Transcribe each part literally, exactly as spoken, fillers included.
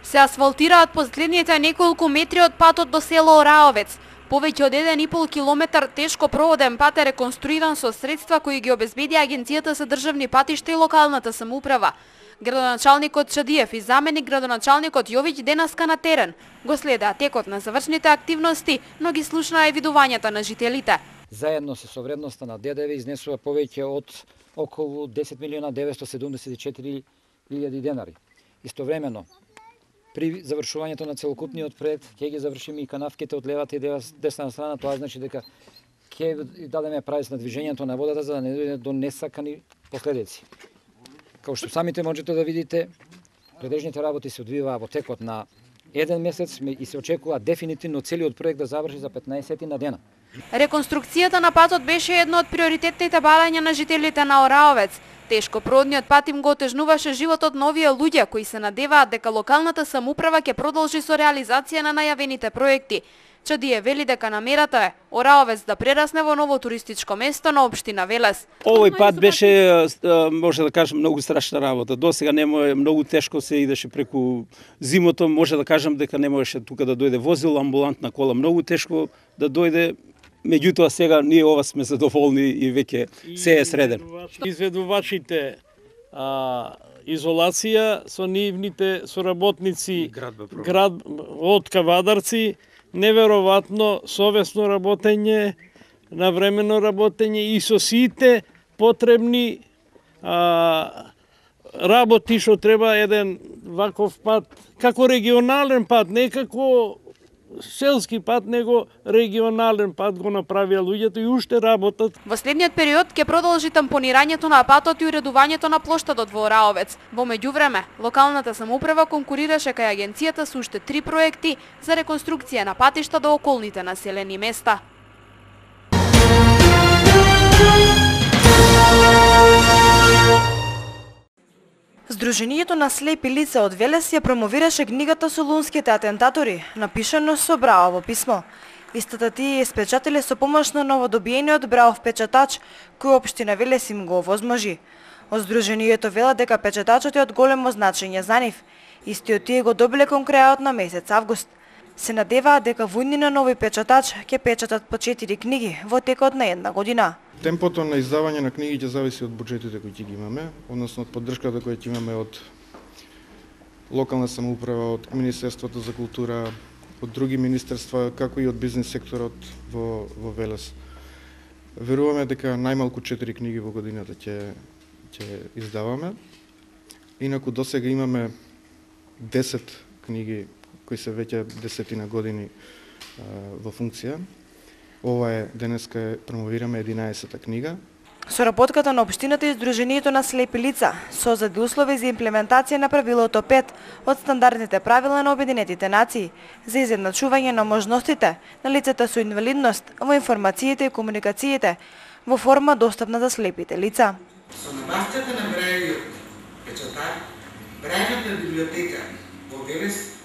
Се асфалтираат последните неколку метри од патот до село Ораовец. Повеќе од еден и пол километар тешко проводен пат е реконструиран со средства кои ги обезбеди Агенцијата за државни патишта и локалната самоуправа. Градоначалникот Чадиев и заменик градоначалникот Јовиќ денаска на терен го следаа текот на завршните активности, но ги слушнаа евидувањата на жителите. Заедно со совредноста на ДДВ изнесува повеќе од околу десет милиона деветстотини седумдесет и четири илјади денари. Истовремено, при завршувањето на целокупниот проект ќе ги завршиме и канавките од левата и десна страна, тоа значи дека ќе дадеме правец на движењето на водата за да не дојде до несакани последици. Како што самите можете да видите, пределните работи се одвиваа во текот на еден месец и се очекува дефинитивно целиот проект да заврши за петнаесет на дена. Реконструкцијата на патот беше едно од приоритетните барања на жителите на Ораовец. Тешко проводниот пат им го отежнуваше животот на овие луѓе кои се надеваат дека локалната самоуправа ќе продолжи со реализација на најавените проекти. Чадие вели дека намерата е Ораовец да прерасне во ново туристичко место на општина Велес. Овој пат беше, може да кажам, многу страшна работа. До сега не може, многу тешко се идеше преку зимото, може да кажам дека не можеше тука да дојде возило, амбулантна кола, многу тешко да дојде. Меѓутоа сега ние ова сме задоволни и веќе се е среден. Изведувачите а, изолација со нивните соработници град од Кавадарци, неверојатно совесно работење, навремено работење и со сите потребни а, работи што треба еден ваков пат, како регионален пат, не како селски пат, него регионален пат го направија луѓето и уште работат. Во следниот период ќе продолжи тампонирањето на патот и уредувањето на плоштадот во Ораовец. Во меѓувреме, локалната самоуправа конкурираше кај агенцијата со уште три проекти за реконструкција на патишта до околните населени места. Сдруженијето на слепи лица од Велес ја промовираше книгата Солунските атентатори, напишано со Браово писмо. Истата тие испечатиле со помош на новодобиениот Браов печатач, кој општина Велес им го овозможи. Од Сдруженијето велат дека печатачот е од големо значење за нив. Истиот тие го добиле кон крајот на месец август. Се надеваат дека во иднина нови печатач ќе печатат по четири книги во текот на една година. Темпото на издавање на книги ќе зависи од буџетите кои ќе ги имаме, односно од поддршката која ќе имаме од локална самоуправа, од Министерството за култура, од други министерства, како и од бизнес секторот во, во Велес. Веруваме дека најмалку четири книги во годината ќе ќе издаваме. Инаку досега имаме десет книги кои се веќе десетина години а, во функција. Ова е, денеска промовираме единаесета книга. Соработката на општината и Сдруженијето на слепи лица создаде услови за имплементација на правилото пет од стандардните правила на Обединетите нации за изедначување на можностите на лицата со инвалидност во информациите и комуникациите во форма достапна за слепите лица. Со набавката на Брајовиот печатар, Брајовата библиотека во Велес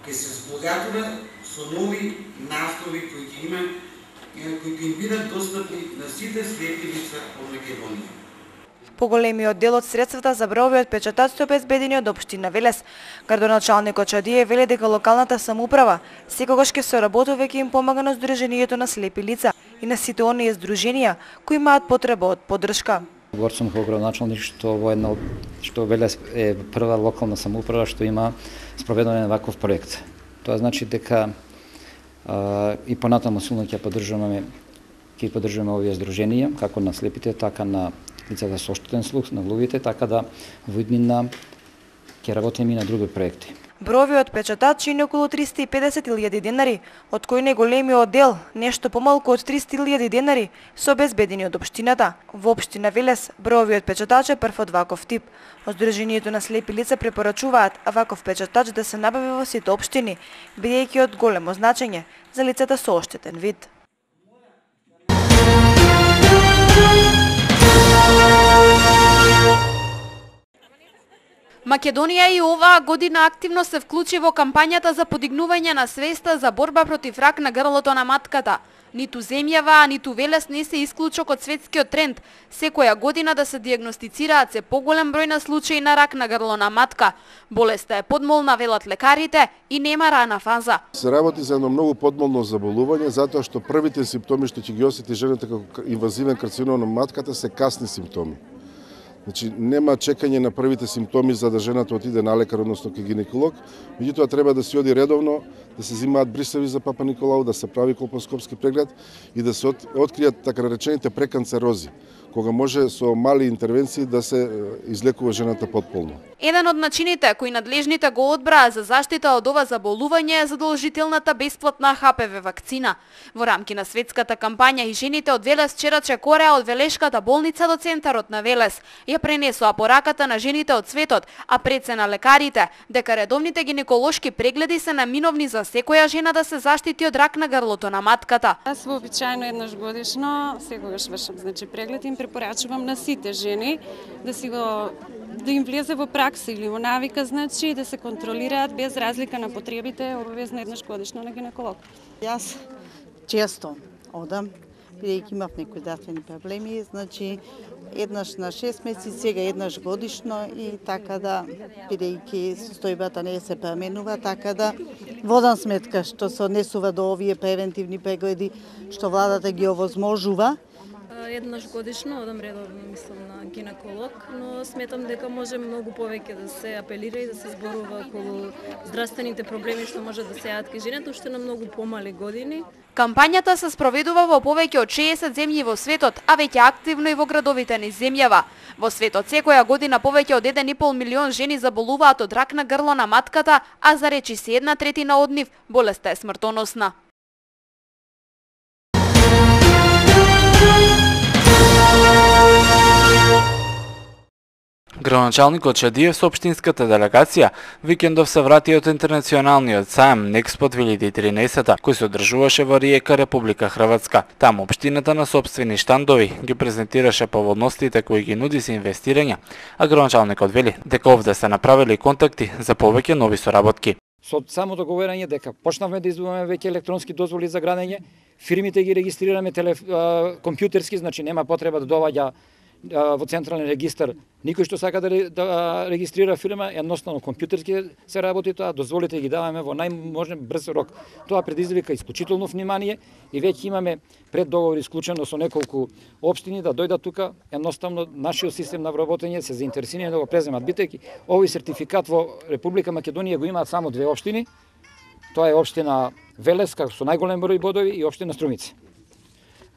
ќе се збогатува со нови наслови кои ќе има кои ќе им бидат достапни на сите слепи лица од Македонија. Поголемиот дел од средствата за Браовиот печатач се обезбедени од општина Велес. Градоначалникот Чадие вели дека локалната самоуправа секогаш ќе соработува и ќе им помага на Сдруженијето на слепи лица и на сите оние здруженија кои имаат потреба од поддршка. Говор сум како градоначалник што во една што Велес е прва локална самоуправа што има спроведен ваков проект. Тоа значи дека а, и понатаму силно ќе поддржуваме ќе поддржуваме овие здруженија, како на слепите, така на лицата со оштетен слух, на глувите, така да во иднина ќе работиме и на други проекти. Браовиот печатач чини околу триста и педесет илјади денари, од кои најголемиот дел, нешто помалку од триста илјади денари, се обезбедени од општината. Во општина Велес, Браовиот печатач е прв од ваков тип. Од Сдруженијето на слепи лица препорачуваат ваков печатач да се набави во сите општини, бидејќи од големо значење за лицата со оштетен вид. Македонија и оваа година активно се вклучи во кампањата за подигнување на свеста за борба против рак на грлото на матката. Ниту земјава, ниту Велес не се исклучок од светскиот тренд. Секоја година да се дијагностицираат се поголем број на случаи на рак на грло на матка. Болеста е подмолна, велат лекарите, и нема рана фаза. Се работи за едно многу подмолно заболување, затоа што првите симптоми што ќе ги осети жената како инвазивен карцином на матката се касни симптоми. Значи, нема чекање на првите симптоми за да жената отиде на лекар, односно кај гинеколог, меѓутоа треба да се оди редовно, да се земаат брисеви за Папа Николау, да се прави колпоскопски преглед и да се откријат така наречените преканцерози, кога може со мали интервенции да се излекува жената потполно. Еден од начините кои надлежните го одбраа за заштита од ова заболување е задолжителната бесплатна Х П В вакцина. Во рамки на светската кампања и жените од Велес Чераче Кореа од Велешката болница до центарот на Велес ја пренесоа пораката на жените од светот, а пред се на лекарите, дека редовните гинеколошки прегледи се наминовни за секоја жена да се заштити од рак на грлото на матката. Јас вообичаено еднаш годишно секогаш вршам значи преглед и им препорачувам на сите жени да си го да им влезе во пракса или во навика, значи да се контролираат без разлика на потребите, обавезно еднаш годишно на гинеколог. Јас често одам, бидејќи имав некои здравствени проблеми, значи еднаш на шест месеци, сега еднаш годишно и така да, бидејќи состојбата не се променува, така да водам сметка што се однесува до овие превентивни прегледи што владата ги овозможува. Еднаш годишно одам редовно, мислам, на гинеколог, но сметам дека може многу повеќе да се апелира и да се зборува околу здравствените проблеми што може да се јават кај жените уште на многу помали години. Кампањата се спроведува во повеќе од шеесет земји во светот, а веќе активно и во градовите низ земјава. Во светот секоја година повеќе од еден и пол милион жени заболуваат од рак на грло на матката, а за речи се една третина од нив болеста е смртоносна. Градоначалникот Чадиев со општинската делегација викендов се врати од интернационалниот сајм Некспо две илјади и тринаесет, кој се одржуваше во Риека, Република Хрватска. Таму општината на сопствени штандови ги презентираше поволностите кои ги нуди за инвестирање, а градоначалникот вели дека овде се направили контакти за повеќе нови соработки. Со само договорање дека почнавме да издуваме веќе електронски дозволи за градење, фирмите ги регистрираме телеф... компјутерски, значи нема потреба да доваѓа во централен регистар никој што сака да, да регистрира фирма, едноставно компјутерски се работи тоа, дозволите ги даваме во најможен брз рок. Тоа предизвика исклучително внимание и веќе имаме преддоговор исклучено со неколку општини да дојдат тука, едноставно нашиот систем на вработење се заинтересирани да го преземат, бидејќи овој сертификат во Република Македонија го имаат само две општини. Тоа е општина Велес како со најголем број бодови и општина Струмица.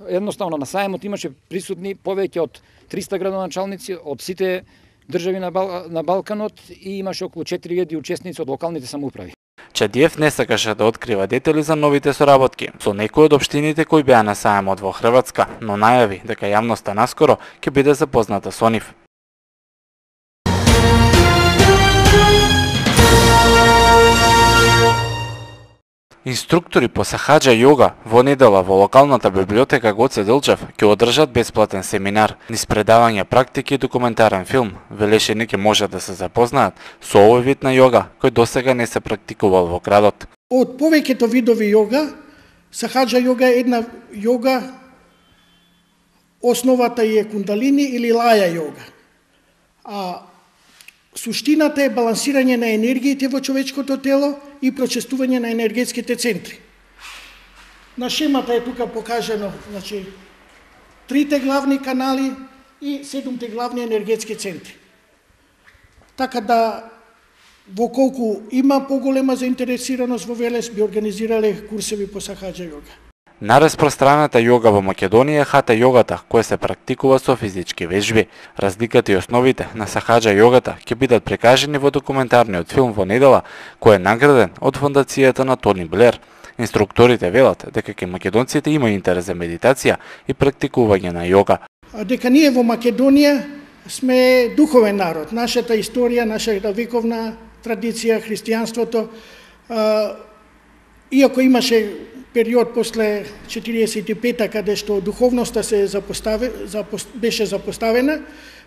Едноставно на сајмот имаше присутни повеќе од триста градоначалници од сите држави на, Бал... на Балканот и имаше околу четири илјади учесници од локалните самоуправи. Чадиев не сакаше да открива детали за новите соработки со некои од општините кои беа на сајмот во Хрватска, но најави дека јавноста наскоро ќе биде запозната со нив. Инструктори по сахаџа јога во недела во локалната библиотека Гоце Делчев ќе одржат бесплатен семинар низ предавање практики и документарен филм. Велешени ќе можат да се запознаат со овој вид на јога кој досега не се практикувал во градот. Од повеќето видови јога, сахаџа јога е една јога, основата е кундалини или лаја јога. А суштината е балансирање на енергиите во човечкото тело и прочестување на енергетските центри. На шемата е тука покажано, значи, трите главни канали и седумте главни енергетски центри. Така да, во колку има поголема заинтересираност во Велес, би организирале курсеви по сахаџа јога. Најраспространета јога во Македонија е хата јогата, која се практикува со физички вежби. Разликата и основите на сахаџа јогата ќе бидат прикажани во документарниот филм во недела, кој е награден од фондацијата на Тони Блер. Инструкторите велат дека кај македонците има интерес за медитација и практикување на јога. А дека ние во Македонија сме духовен народ. Нашата историја, нашата вековна традиција, христијанството, иако имаше период после четириесет и пета каде што духовноста се запостави, запос, беше запоставена,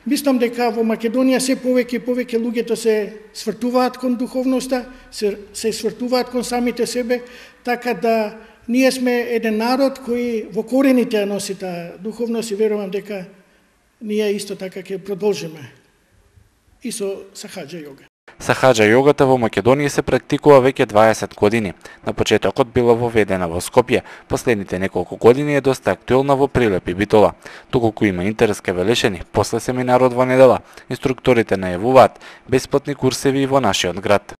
мислам дека во Македонија се повеќе и повеќе луѓето се свртуваат кон духовноста, се, се свртуваат кон самите себе, така да Ние сме еден народ кој во корените ја носи таа духовност и верувам дека ние исто така ќе продолжиме и со сахаджа јога. Сахаджа јогата во Македонија се практикува веќе дваесет години. На почетокот била воведена во Скопје, последните неколку години е доста актуелна во Прилеп и Битола. Доколку има интерес ке Велешени, после семинарот во недела, инструкторите најавуваат бесплатни курсеви и во нашиот град.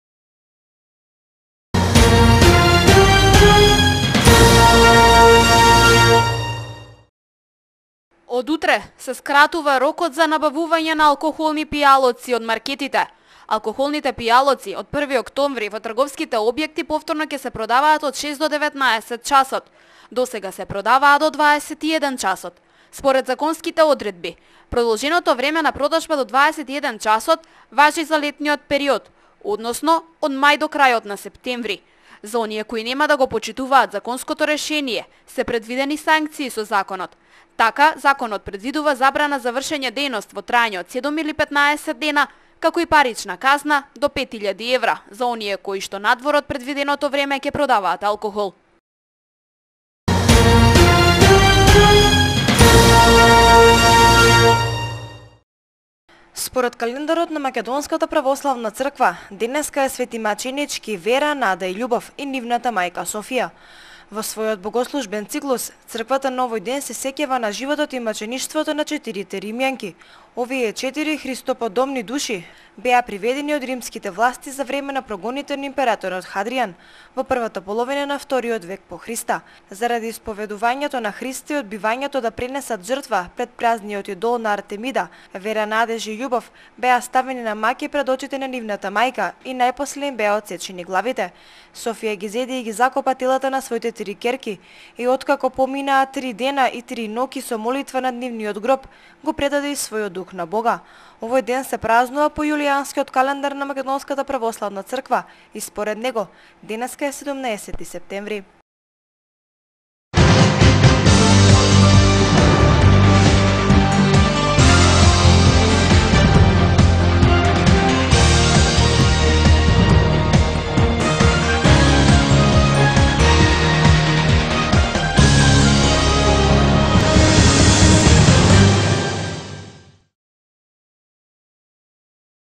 Од утре се скратува рокот за набавување на алкохолни пијалоци од маркетите. Алкохолните пијалоци од први октомври во трговските објекти повторно ќе се продаваат од шест до деветнаесет часот. Досега се продаваа до дваесет и еден часот. Според законските одредби, продолженото време на продажба до дваесет и еден часот важи за летниот период, односно од мај до крајот на септември. За оние кои нема да го почитуваат законското решение, се предвидени санкции со законот. Така, законот предвидува забрана за вршење дејност во трајање од седум или петнаесет дена, како и парична казна до пет илјади евра за оние кои што надвор од предвиденото време ќе продаваат алкохол. Според календарот на Македонската православна црква, денеска е Свети Маченички, Вера, Нада и Љубов и нивната мајка Софија. Во својот богослужбен циклус, црквата на овој ден се сеќава на животот и мачеништвото на четирите римјанки. Овие четири христоподобни души беа приведени од римските власти за време на прогоните на императорот Хадријан во првата половина на вториот век по Христа. Заради исповедувањето на Христа и одбивањето да пренесат жртва пред празниот идол на Артемида, Вера, Надеж и Љубов беа ставени на маки пред очите на нивната мајка и најпосле им беа отсечени главите. Софија ги зеде и ги закопа телата на своите три керки и откако поминаа три дена и три ноќи со молитва над нивниот гроб, го предаде и својот дух на Бога. Овој ден се празнува по јулијанскиот календар на Македонската православна црква и според него денеска е седумнаесети септември.